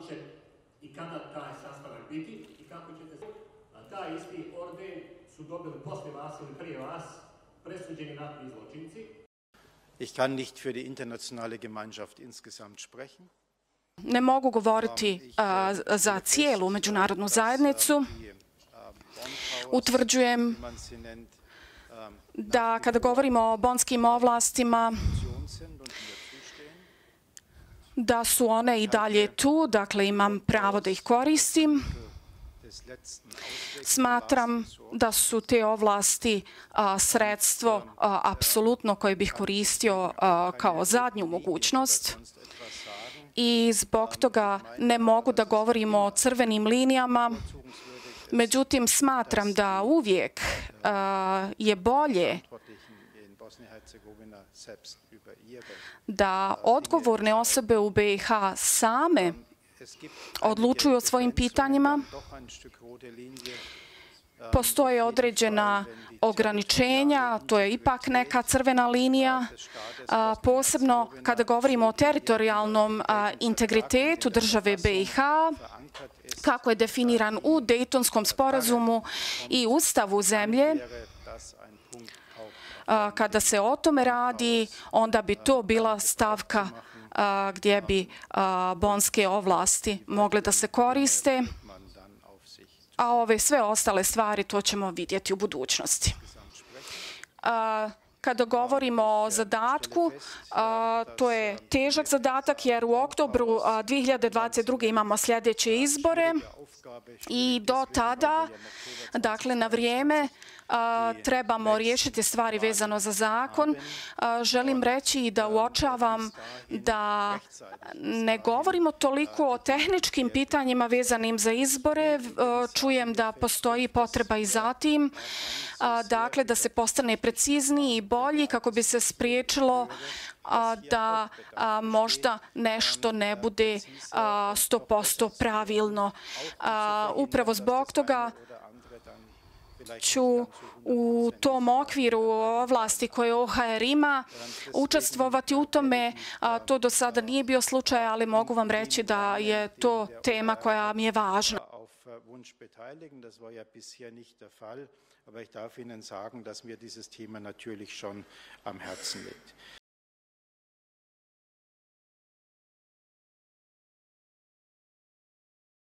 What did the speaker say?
će i kada taj sastanak biti i kako ćete se... Taj isti orden su dobili posle vas ili prije vas presuđeni ratni zločinci. Ich kann nicht für die internationale Gemeinschaft insgesamt sprechen. Ne mogu govoriti za cijelu međunarodnu zajednicu. Utvrđujem da kada govorimo o bonskim ovlastima, da su one i dalje tu, dakle imam pravo da ih koristim. Smatram da su te ovlasti sredstvo apsolutno koje bih koristio kao zadnju mogućnost i zbog toga ne mogu da govorimo o crvenim linijama. Međutim, smatram da uvijek je bolje da odgovorne osobe u BiH same odlučuju o svojim pitanjima. Postoje određena ograničenja, to je ipak neka crvena linija, posebno kada govorimo o teritorijalnom integritetu države BiH, kako je definiran u Dejtonskom sporazumu i Ustavu zemlje. Kada se o tome radi, onda bi to bila stavka gdje bi bonske ovlasti mogle da se koriste, a ove sve ostale stvari to ćemo vidjeti u budućnosti. Kada govorimo o zadatku, to je težak zadatak jer u oktobru 2022. imamo sljedeće izbore i do tada, dakle na vrijeme, trebamo riješiti stvari vezano za zakon. Želim reći da uočavam da ne govorimo toliko o tehničkim pitanjima vezanim za izbore. Čujem da postoji potreba i za tim, dakle da se postane precizniji i bolji kako bi se spriječilo da možda nešto ne bude 100% pravilno. Upravo zbog toga ću u tom okviru ovlasti koje OHR ima učestvovati u tome. To do sada nije bio slučaj, ali mogu vam reći da je to tema koja mi je važna. Aber ich darf Ihnen sagen, dass mir dieses Thema natürlich schon am Herzen liegt.